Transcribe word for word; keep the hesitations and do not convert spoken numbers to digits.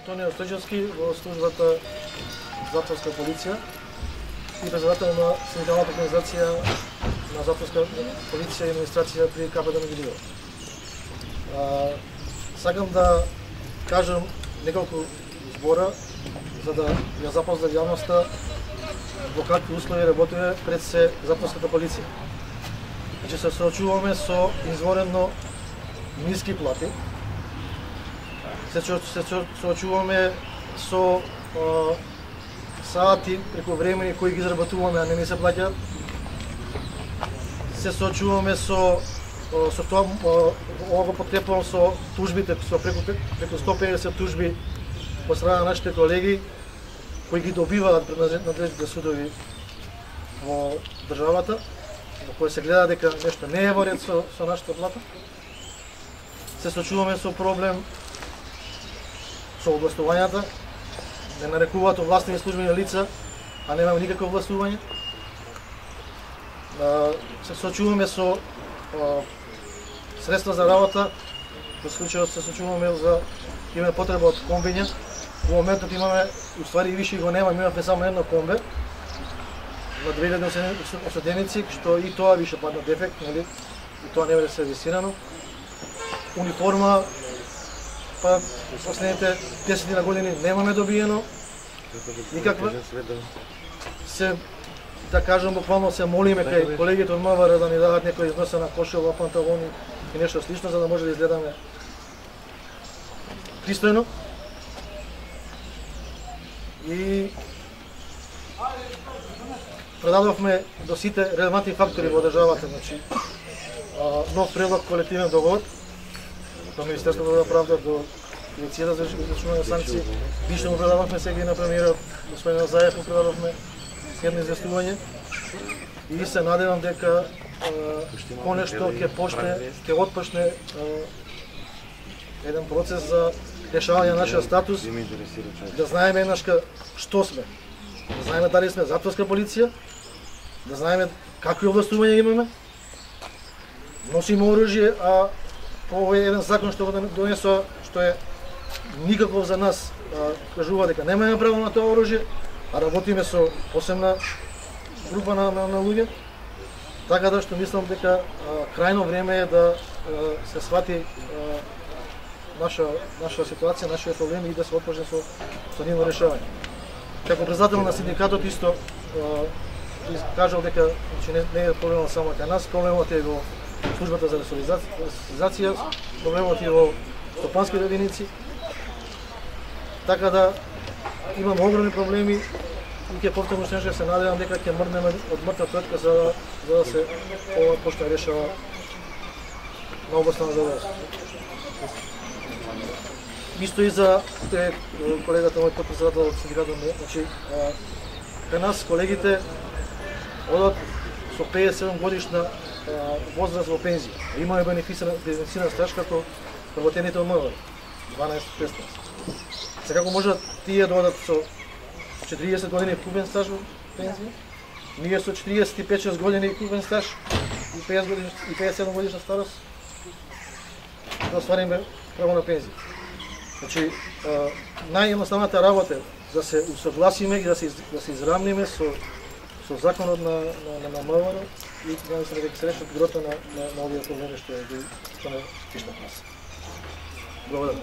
Антонио Стојчевски во службата затворска полиција и председател на синдикалната организација на затворска полиција и администрација при КПД Мегидиево. Сакам да кажам неколку збора за да ја запознам јавноста во какви услови работиме пред се затворската полиција. Значи се соочуваме со изворено ниски плати. Се соочуваме со а, сати преку времени кои ги изработуваме, а не ни се плаќаат. Се соочуваме со со тоа, ова го подкрепувам со тужбите, со преку преку сто педесет тужби од страна на нашите колеги кои ги добиваат пред надлежните судови во државата, во кои се гледа дека нешто не е во ред со, со нашата плата. Се соочуваме со проблем со овластувањата, не нарекуваат овластени службени лица, а немаме никакво овластување. Се соочуваме со средства за работа, во случајот се соочуваме за имаме потреба од комбиња. Во моментот имаме, уствари и више го нема, имаме само едно комбе на две илјади осуденици, што и тоа више падна дефект, нели? И тоа не биде сервисирано. Униформа, па последните десет на години немаме добиено никаква. Се, да кажам, буквално се молиме кај колегите од МВР да ни дадат некој износена кошела, панталони и нешто слично, за да може да изгледаме пристојно. И предадовме до сите релевантни фактори во државата, значи нов предлог колективен договор до Министерството за правда, до Дирекцијата за извршување санкции. Више му предадовме сега и на премиерот господин Заев му предадовме едно известување и се надевам дека понешто ќе почне, ќе отпочне еден процес за решавање на нашиот статус, да знаеме еднашка што сме, да знаеме дали сме затворска полиција, да знаеме какви овластувања имаме, носиме оружје, а овој е еден закон што го донесува, што е никаков за нас, кажува дека немаме право на тоа оружје, а работиме со посебна група на, на, на луѓе, така да што мислам дека а, крајно време е да а, се свати а, наша наша ситуација, нашите проблеми и да се отпочне со со нивно решавање. Како председател на синдикатот исто кажал дека значи, не, не е проблемот само кај нас, проблемот е во службата за ресоциализација, проблемот е во стопанските единици. Така да имам огромни проблеми и ќе повторно што се надевам дека ќе мрднеме од мртва точка за, за да се ова почне решава на областта на задоволство. Исто и за те, колегата мој подпредседател од синдикатот, значи кај нас колегите одат со педесет и седум годишна возраст во пензија. Имаме бенефициран стаж како работените од МВР, дванаесет шеснаесет. Секако можат тие да одат со четириесет години купен стаж во пензија, ние со четириесет и пет шест години купен стаж и педесет години и педесет и седум годишна старост да оствариме право на пензија. Значи, наједноставната работа да се усогласиме и да се да се изравниме со со законот на на на МВР и да се дека се решат грото на на, на овие проблеми што е што не тишна нас. Благодарам.